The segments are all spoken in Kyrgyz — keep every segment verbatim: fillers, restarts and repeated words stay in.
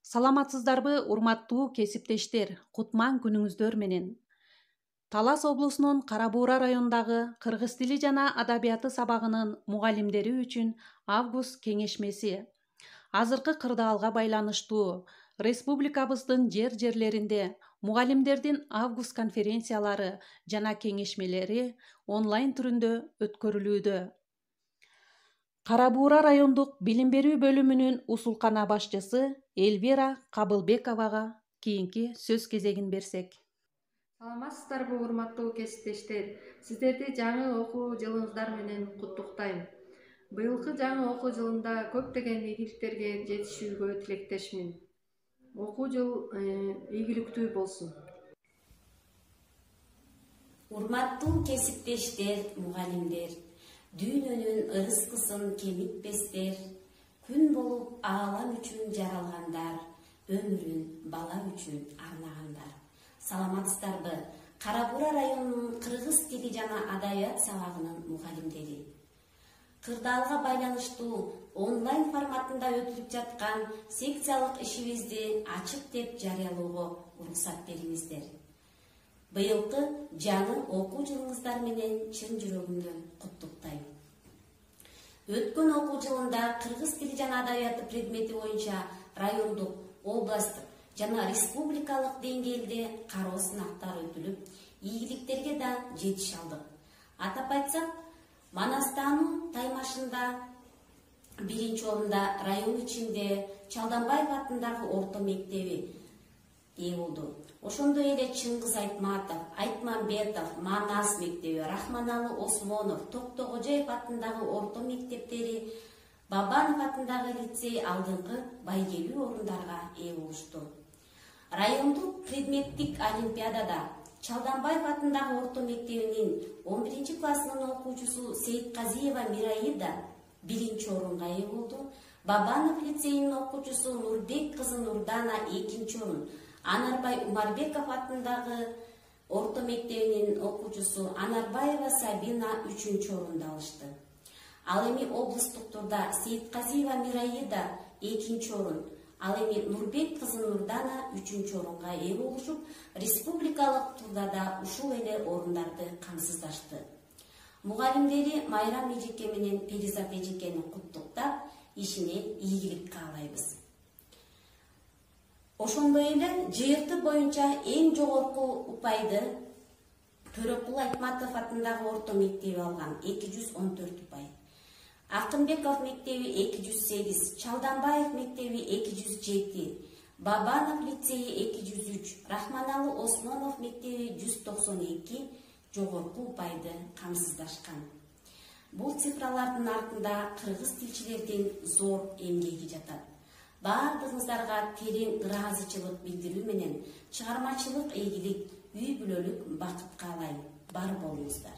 Саламатсыздарбы, урматтуу кесиптештер, кутман күнүңүздөр менен. Талас облусунун Кара Буура районундагы кыргыз тили жана адабияты сабагынын мугалимдери үчүн август кеңешмеси азыркы кырдаалга байланыштуу республикабыздын жер-жерлеринде мугалимдердин август конференциялары жана кеңешмелери онлайн түрүндө өткөрүлүүдө. Кара Буура райондук билим берүү бөлүмүнүн усулкана башчысы Эльвира Кабылбековага кийинки сөз кезегин берсек. Саламатсыздарбы, урматтуу кесиптештер. Сиздерди жаңы окуу жылыңыздар менен куттуктайм. Быйылкы жаңы окуу жылында көптөгөн ийгиликтерге жетишүүгө тилектешмин. Окуу жыл ийгиликтүү болсун. Урматтуу кесиптештер, мугалимдер, дүйнөнүн ырыскысын кемитпестер, күн болуп аалам үчүн жаралгандар, өмүрүн бала үчүн арнагандар. Саламатсыздарбы, Кара Буура районунун кыргыз тили жана адабият сабагынын мугалимдери. Кырдаалга байланыштуу онлайн форматында өтүлүп жаткан секциялык ишибизди ачык деп жарыялоого уруксат бериңиздер. Быйылкы жаңы окуу жылыңыздар менен чын жүрөгүмдөн куттуктайм. Өткөн окуу жылында кыргыз тили жана адабияты предмети боюнча райондук, областтык жана республикалык деңгээлде кароо сынактар өтүлүп, ийгиликтерге да жетише алдык. Атап айтсак, Манастануу таймашында биринчи орунда район ичинде Чалданбаев атындагы орто мектеби ээ болду. Ошондой эле Чыңгыз Айтматов, Айтмамбетов, Манас мектеби, Рахманалы Осмонов, Токтогожоев атындагы орто мектептери, Бабанов атындагы лицей алдыңкы байгелүү орундарга ээ болушту. Райондук предметтик олимпиадада Чалданбаев атындагы орто мектебинин он биринчи классынын окуучусу Сейитказиева Мираида биринчи орунга ээ болду. Бабанов лицейинин окуучусу Нурбек кызы Нурдана экинчи орун, Анарбай Умарбеков атындагы орто мектебинин окуучусу Анарбаева Сабина үчүнчү орунду алышты. Ал эми облустук турда Сейитказиева Мираида экинчи орун, ал эми Нурбек кызы Нурдана үчүнчү орунга ээ болушуп, республикалык турда да ушул эле орундарды камсыздашты. Мугалимдери Майрам Эжеке менен Перизат Эжекени куттуктап, ишине ийгилик каалайбыз. Ошондой эле жыйырты боюнча эң жогорку упайды Төрөкул Айтматов атындагы орто мектеби алган эки жүз он төрт упай. Акынбеков мектеби эки жүз сегиз, Чалданбаев мектеби эки жүз жети, Бабанов лицейи эки жүз үч, Рахманалы Осмонов мектеби жүз токсон эки жогорку упайды камсыздашкан. Бул цифралардын артында кыргыз тилчилердин зор эмгеги жатат. Баардыгыңыздарга терең ыраазычылык билдирүү менен чыгармачылык ийгилик, үй бүлөлүк бакыт каалайм. Бар болуңуздар.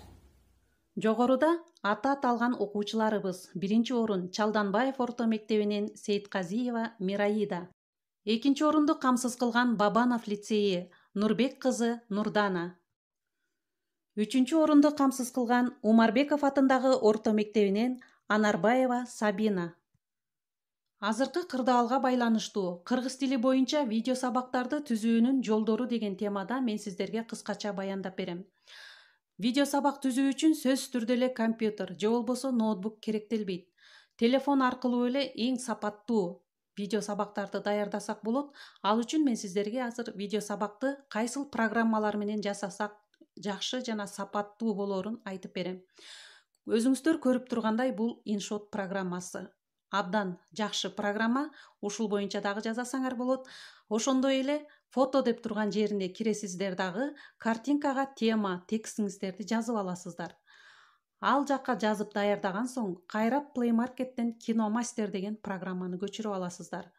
Жогоруда аты аталган окуучуларыбыз: биринчи орун Чалданбаев орто мектебинин Сейитказиева Мираида, экинчи орунду камсыз кылган Бабанов лицейи Нурбек кызы Нурдана, үчүнчү орунду камсыз кылган Умарбеков атындагы орто мектебинин Анарбаева Сабина. Азыркы кырдаалга байланыштуу кыргыз тили боюнча видео сабактарды түзүүнүн жолдору деген темада мен сиздерге кыскача баяндап берем. Видео сабак түзүү үчүн сөзсүз түрдө эле компьютер же болбосо ноутбук керектелбейт. Телефон аркылуу эле эң сапаттуу видео сабактарды даярдасак болот. Ал үчүн мен сиздерге азыр видео сабакты кайсыл программалар менен жасасак жакшы жана сапаттуу болоорун айтып берем. Өзүңүздөр көрүп тургандай, бул InShot программасы абдан жакшы программа. Ушул боюнча дагы жасасаңар болот. Ошондой эле фото деп турган жерине киресиздер дагы картинкага тема, текстиңиздерди жазып аласыздар. Ал жакка жазып даярдаган соң кайра Play Market'тен Киномастер деген программаны көчүрүп аласыздар.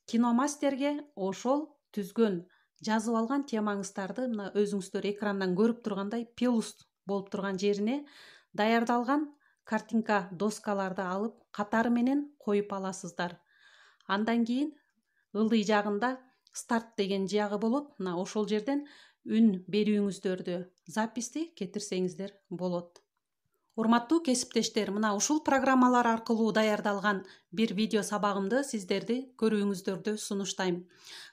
Киномастерге ошол түзгөн, жазып алган темаңыздарды мына өзүңүздөр экрандан көрүп тургандай плюс болуп турган жерине даярдалган картинка доскаларды алып катары менен коюп аласыздар. Андан кийин ылдый жагында старт деген жагы болот. Мына ошол жерден үн берүүңүздөрдү, записти кетирсеңиздер болот. Урматтуу кесиптештер, мына ушул программалар аркылуу даярдалган бир видео сабагымды сиздерди көрүүңүздөрдү сунуштайм.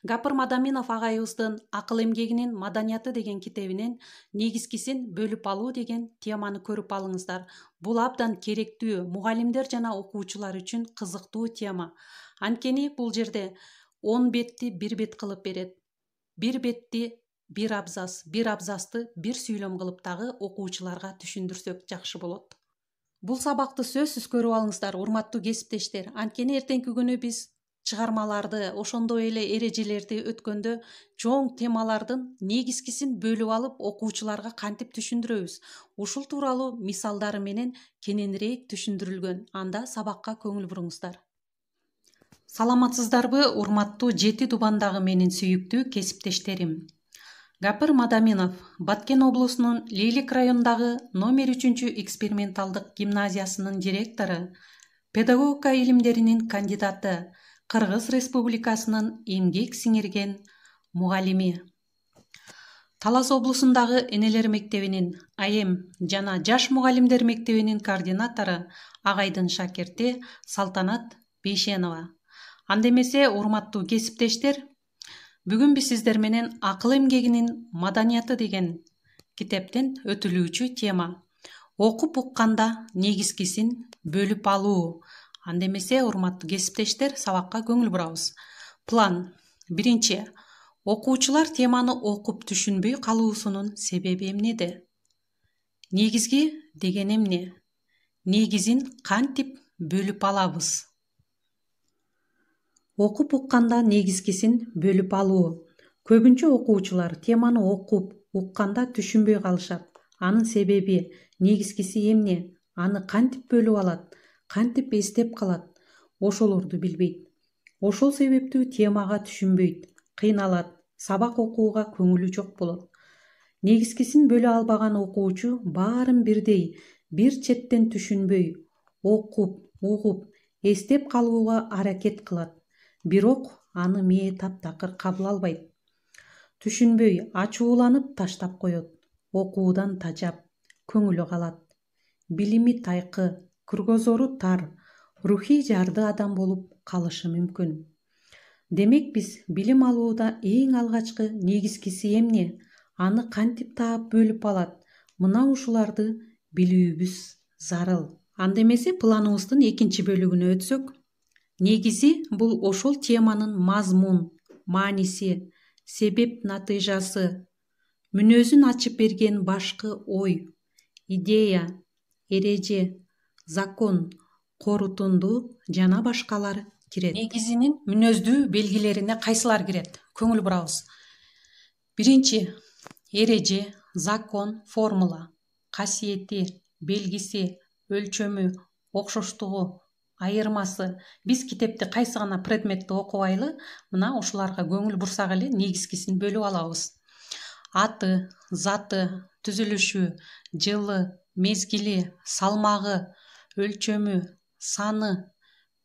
Гапыр Мадаминов агайыбыздын Акыл эмгегинин маданияты деген китебинен негизгисин бөлүп алуу деген теманы көрүп алыңыздар. Бул абдан керектүү, мугалимдер жана окуучулар үчүн кызыктуу тема. Анткени бул жерде он бетти бир бет кылып берет. Бир бетти бир абзац, бир абзацты бир сүйлөм кылып дагы окуучуларга түшүндүрсөк жакшы болот. Бул сабакты сөзсүз көрүп алыңыздар, урматтуу кесиптештер. Анткени эртеңки күнү биз чыгармаларды, ошондой эле эрежелерди өткөндө чоң темалардын негизгисин бөлүп алып окуучуларга кантип түшүндүрөбүз? Ушул тууралуу мисалдары менен кененирээк түшүндүрүлгөн. Анда сабакка көңүл буруңуздар. Саламатсыздарбы, урматтуу жети дубандагы менин сүйүктүү кесиптештерим. Гапыр Мадаминов Баткен облусунун Лейлик районундагы номер үчүнчү эксперименталдык гимназиясынын директору, педагогика илимдеринин кандидаты, Кыргыз Республикасынын эмгек сиңирген мугалими. Талас облусундагы Энелер мектебинин айым жана жаш мугалимдер мектебинин координатору, агайдын шакирти Салтанат Бейшенова. Анда эмесе, урматтуу кесиптештер, бүгүн биз сиздер менен Акыл эмгегинин маданияты деген китептен өтүлүүчү тема окуп укканда негизгисин бөлүп алуу. Анда эмесе, урматтуу кесиптештер, сабакка көңүл бурабыз. План. Биринчи. Окуучулар теманы окуп түшүнбөй калуусунун себеби эмнеде? Негизги деген эмне? Негизин кантип бөлүп алабыз? Окуп укканда негизгисин бөлүп алуу. Көбүнчө окуучулар теманы окуп укканда түшүнбөй калышат. Анын себеби, негизгиси эмне? Аны кантип бөлүп алат? Кантип эстеп калат? Ошолорду билбейт. Ошол себептүү темага түшүнбөйт, кыйналат, сабак окууга көңүлү жок болот. Негизгисин бөлө албаган окуучу баарын бирдей, бир четтен түшүнбөй, окуп, угуп, эстеп калууга аракет кылат. Бирок аны мээ таптакыр кабыл албайт. Түшүнбөй, ачууланып таштап коет. Окуудан тажап, көңүлү калат. Билими тайкы, кыргозору тар, рухий жарды адам болуп калышы мүмкүн. Демек биз билим алууда эң алгачкы негизгиси эмне? Аны кантип таап бөлүп алат? Мына ушуларды билүүбүз зарыл. Анда эмесе, планыбыздын экинчи бөлүгүнө өтсөк, негизи бул ошол теманын мазмун, мааниси, себеп натыйжасы, мүнөзүн ачып берген башкы ой, идея, эреже, закон, корутунду жана башкалар кирет. Негизинин мүнөздүү белгилерине кайсылар кирет? Көңүл бурабыз. Биринчи, эреже, закон, формула, касиети, белгиси, өлчөмү, окшоштугу, айырмасы. Биз китепти кайсы гана предметти окубайлы, мына ушуларга көңүл бурсак эле негизгисин бөлүп алабыз. Аты, заты, түзүлүшү, жылы, мезгили, салмагы, өлчөмү, саны,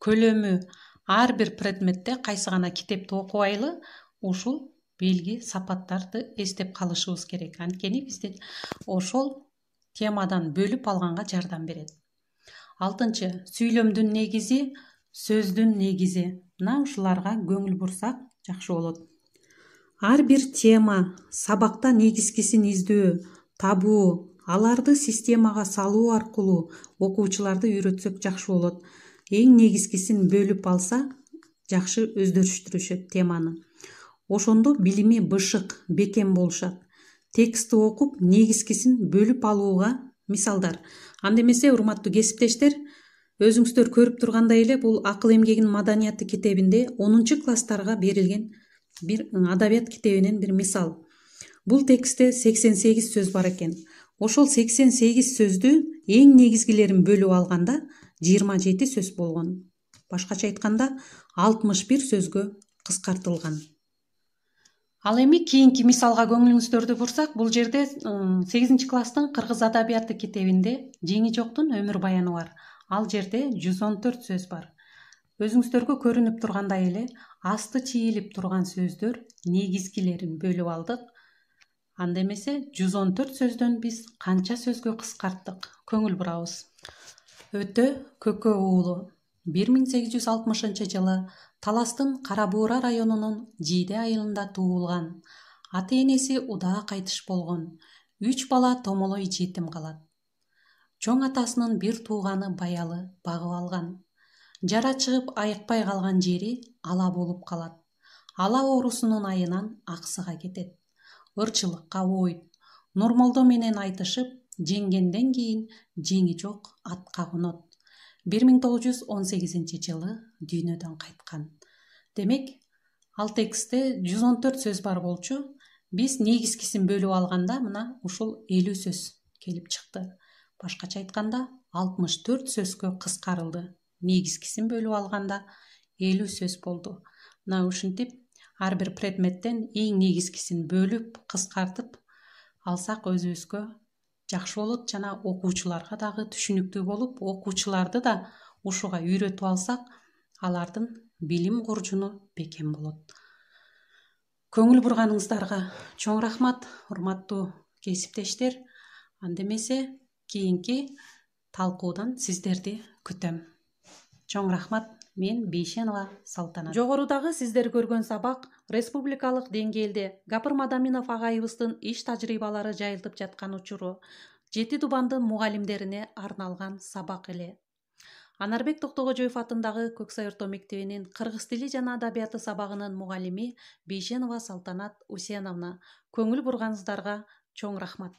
көлөмү. Ар бир предметте кайсы гана китепти окубайлы ушул белги, сапаттарды эстеп калышыбыз керек. Анткени биздин ошол темадан бөлүп алганга жардам берет. Алтынчы, сүйлөмдүн негизи, сөздүн негизи. Мына ушуларга көңүл бурсак жакшы болот. Ар бир тема, сабакта негизгисин издөө, табуу, аларды системага салуу аркылуу окуучуларды үйрөтсөк жакшы болот. Эң негизгисин бөлүп алса, жакшы өздөрүштүрүшөт теманы. Ошондо билими бышык, бекем болушат. Текстти окуп, негизгисин бөлүп алууга мисалдар. Анда эмесе, урматтуу кесиптештер, өзүңүздөр көрүп тургандай эле, бул Акыл эмгегинин маданияты китебинде онунчу класстарга берилген бир адабият китебинен бир мисал. Бул текстте сексен сегиз сөз бар экен. Ошол сексен сегиз сөздү эң негизгилерин бөлүп алганда жыйырма жети сөз болгон. Башкача айтканда, алтымыш бир сөзгө кыскартылган. Ал эми кийинки мисалга көңүлүңүздөрдү бурсак, бул жерде сегизинчи класстын Кыргыз адабияты китебинде Жеңи жоктун өмүр баяны бар. Ал жерде жүз он төрт сөз бар. Өзүңүздөргө көрүнүп тургандай эле, асты чийилип турган сөздөр негизгилерин бөлүп алдык. Анда эмесе жүз он төрт сөздөн биз канча сөзгө кыскарттык, көңүл бурабыз. Өтө Көкө уулу бир миң сегиз жүз алтымышынчы жылы Таластын Кара Буура районунун Жийде айылында туулган. Ата-энеси удаа кайтыш болгон. Үч бала томолой жетим калат. Чоң атасынын бир тууганы Баялы багып алган. Жара чыгып айыкпай калган жери ала болуп калат. Ала оорусунун айынан аксыга кетет. Ырчылыкка оойт. Нурмолдо менен айтышып, жеңгенден кийин жеңи жок атка конот. бир миң тогуз жүз он сегизинчи жылы дүйнөдөн кайткан. Демек, ал текстте жүз он төрт сөз бар болчу. Биз негизгисин бөлүп алганда мына ушул элүү сөз келип чыкты. Башкача айтканда алтымыш төрт сөзгө кыскарылды. Негизгисин бөлүп алганда элүү сөз болду. Мына ушинтип ар бир предметтен эң негизгисин бөлүп, кыскартып алсак өзүбүзгө жакшы болот жана окуучуларга дагы түшүнүктүү болуп, окуучуларды да ушуга үйрөтүп алсак, алардын билим куржуну бекем болот. Көңүл бурганыңыздарга чоң рахмат, урматтуу кесиптештер. Анда эмесе кийинки талкуудан сиздерди күтөм. Чоң рахмат. Мен Бейшенова Салтанат. Жогорудагы сиздер көргөн сабак республикалык деңгээлде Гапыр Мадаминов агайыбыздын иш тажрыйбалары жайылтып жаткан учуру жети тубандын мугалимдерине арналган сабак эле. Анарбек Токтогожоев атындагы Көксай орто мектебинин кыргыз тили жана адабияты сабагынын мугалими Бейшенова Салтанат Усеновна. Көңүл бурганыңыздарга чоң рахмат.